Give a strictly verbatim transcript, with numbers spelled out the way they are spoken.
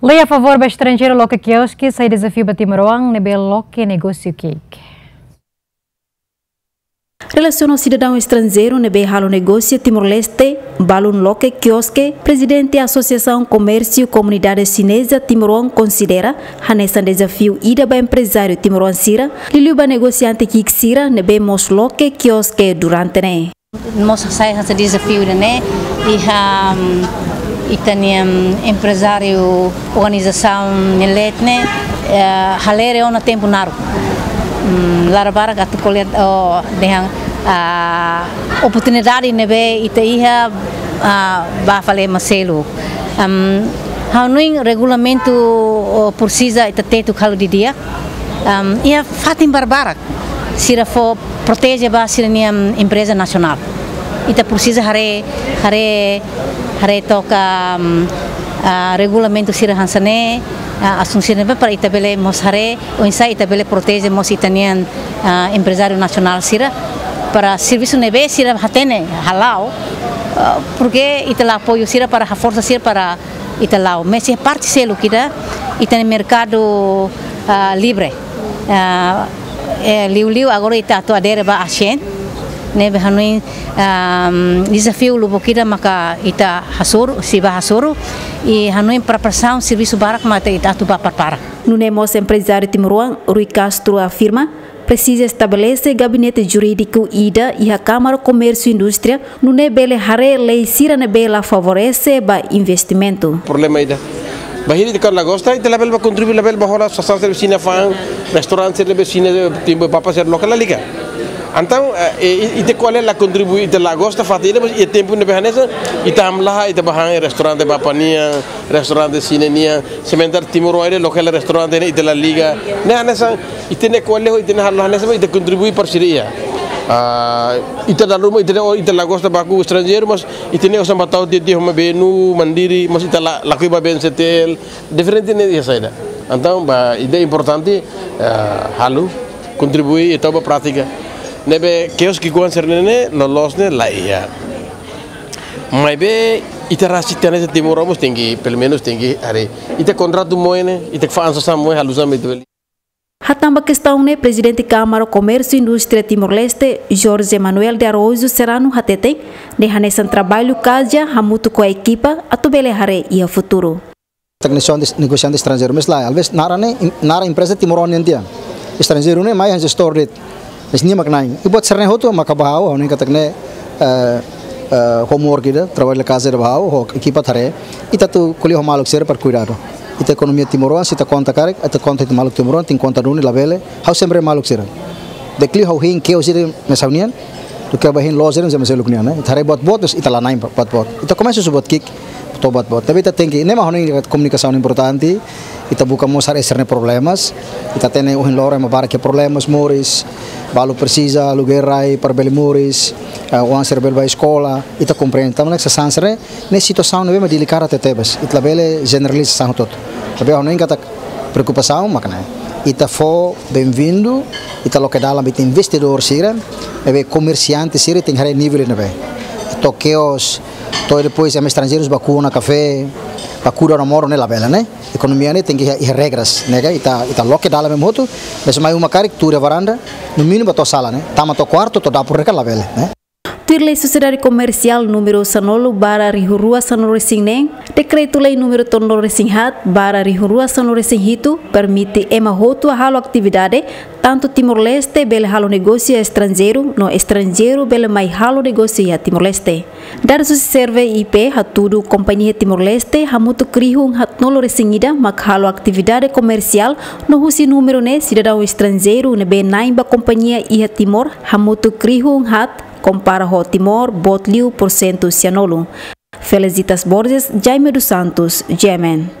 Lei a favór ba estranjeiru loke kioske sai dezafiu ba timoroan ne'ebé loke negósiu ki'ik. Relasiona sidadaun estranjeiru ne'ebé halo negósiu Timor-Leste, balun loke kioske, Prezidente Asosiasaun Komérsiu Komunidade Xineza Timoroan konsidera hanesan dezafiu ida ba emprezáriu timoroan sira, liuliu ba negosiante ki'ik sira ne'ebé mós loke kioske durante ne'e. Mós sai hanesan dezafiu ida-ne'e, iha, mm, ita-nia, mm, emprezáriu organizasaun nia leet ne'e, eh, halere ona tempu naruk. Mm, laran barak atu ko'alia, oh, dehan, ah, oportunidade ne'ebé ita iha, ah, ba fali ema seluk. Am, ha'u hanoin regulamentu, oh, presiza ita tetu halo didi'ak. Am, iha fatin barbarak sira fó proteje ba sira-nia, mm, empreza nasionál. Ita presiza haree, haree, haree took, mm, ah, regulamentu sira hanesan ne'e, ah, asuntu sira ne'ebé para ita bele mós haree oinsá ita bele proteje mós ita-nia, ah, emprezáriu nasionál sira para servisu ne'ebé sira hatene hala'o, ah, porke ita la apoiu sira para haforsa sira para ita la'o. Mas iha parte seluk ida, ita-nia merkadu, ah, livre. Ah, eh, liuliu agora ita atu adere ba ASEAN. Ne'ebé hanoin, ah, dezafiu lubuk ida maka ita hasoru, sei ba hasoru. I hanoin preparasaun servisu barak mak ita atu ba prepara. Nune'e mós emprezáriu timoroan Rui Castro afirma, presiza estabelese gabinete jurídiku ida iha Kámara Komérsiu Indústria, nune'e bele haree lei sira ne'ebé la favorese ba investimentu. Problema ida. Bainhira ita la gosta, ita labele ba kontribui, labele ba hola sasán sira ne'ebé Xina fa'an, restaurante sira ne'ebé Xina tembus bapa sira loke la liga. Entaun, eh, eh, ita ko'alia la kontribui, ita la gosta fatin ida, mas iha tempu ne'ebé hanesan, ita hamlaha, ita ba han restaurante bapa nian, restaurante Xina nian, sementara timoroan ida loke la restaurante ne'e ita la liga. Ne'e hanesan, ita-nia ko'alia ho ita-nia halo hanesan ita kontribui para sira iha. Ah, ita dala ruma, ita, ita la gosta baku estranjeiru, mas ita-nia osan ba tau tiha-tiha ho Mebenu, Mandiri, mas ita la, lakohi ba BNCTL, diferente ne'e iha saida. Entaun, ba, ida importante, ah, halo, kontribui, ita ba prátika. Ne'ebé, kioske ki'ik-oan sira-ne'e, loloos ne'e, la iha. Maibé, ita rasik tiha hanesan timoroan mós tenke, pelumenus tenke, haree. Ita kontratu moe ne'e, ita fa'an sasán moe, halo sasán moe, ita bele. Hatán ba kestaun ne'e, Prezidente Kámara Komérsiu Indústria Timor-Leste, Jorge Manuel de Araújo Serrano hateten, ne'e hanesan traballu kaja hamutuk ho ekipa atu bele haree iha futuru. Negosiante, negosiante estranjeiru, mas la, às vezes, naran ne'e, naran empreza timoroan nian tiha. Estranjeiru ne'e mai hanesan store de'it. Mas nia mak na'in. I buat sira-ne'e hotu maka ba ha'u, ha'u hanoin katak ne'e, eh, eh, homework ida, traballu de casa ida ba ha'u, ho ekipa ita haree. Ita atu ko'alia ho maluk sira para kuidadu. Ita ekonomia timoroan, se ita konta karik, ita konta ita maluk timoroan, tenke konta duni labele. Ha'u sempre maluk sira. Dekliu ha'u hein kios sira, mas ha'u-nian, duké ba hein loja sira, mas ha'u-nian, ne'e. Ita haree buat boot, mas ita la na'in buat boot. Ita komesa husi buat ki'ik, to'o buat boot. Tapi ita tenke, ne'e mak ha'u hanoin komunikasaun importante, ita buka mós haree sira-nia problemas, ita hatene ohin loron ema barak iha problemas moris, balu presiza aluguér rai para bele moris, eh, oan sira bele ba eskola, ita komprende. Tanba ne'e sasán sira-ne'e, ne'e situasaun ne'ebé mak delikadu tebetebes, ita labele jeneraliza sasán hotu-hotu. Tapi ha'u hanoin katak preokupasaun mak ne'e. Ita fó benvindu, ita loke dalan ba ita investidór sira, ne'ebé komersiante sira tenke haree nivel ne'ebé. To'o kios, to'o depois ema estranjeirus ba ku'u ona kafé, ba ku'u ona modo ne'e labele, ne'e. Ekonomia ne'e tenke iha, iha regras, ne'e ka, ita, ita loke dalan ba hotu, mas mai uma karik tuur iha varanda, no mínimu ba to'o sala, ne'e. Tama to'o kuartu, to'o dapur ne'e ka labele, ne'e. Tuir Lei Sosiedade Komersiál númeru sanulu barra rihun rua sanulu-resin-neen, Dekretu-Lei númeru tolunulu-resin-haat barra rihun rua sanulu-resin-hitu, permite ema hotu halo atividade, tantu Timor-Leste bele halo negósiu iha estranjeiru, no estranjeiru bele mai halo negósiu iha Timor-Leste. Dadus husi Serve I P hatudu kompañia Timor-Leste hamutuk rihun haatnulu-resin-ida mak halo atividade komersiál, no husi númeru ne'e sidadaun estranjeiru ne'ebé na'in ba kompañia iha Timor hamutuk rihun haat, kompara ho Timor boot liu porsentu sianulu. Felicitas Borges, Jaime dos Santos, G M N.